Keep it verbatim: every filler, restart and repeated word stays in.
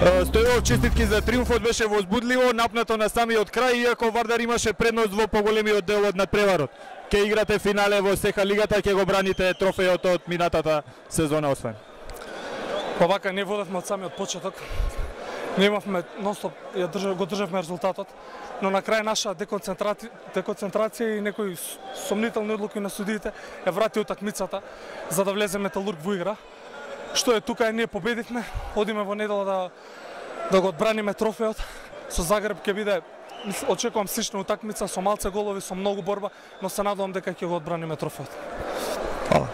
Стојов, честитки за триумфот, беше возбудливо, напнато на самиот крај, иако Вардар имаше предност во поголемиот дел од надпреварот. Ке играте финале во СЕХА лигата, ќе го браните трофејот од минатата сезона освен. Па вака не водевме од самиот почеток. Не имавме нонстоп, ја држав, го државме резултатот, но на крај наша деконцентрација, деконцентрација и некои сомнителни одлуки на судиите ја врати утакмицата за да влезе Металург во игра. Што е тука, ние победивме, одиме во недела да да го одбраниме трофејот. Со Загреб ќе биде, очекувам слична утакмица со малце голови, со многу борба, но се надевам дека ќе го одбраниме трофеот. Фала.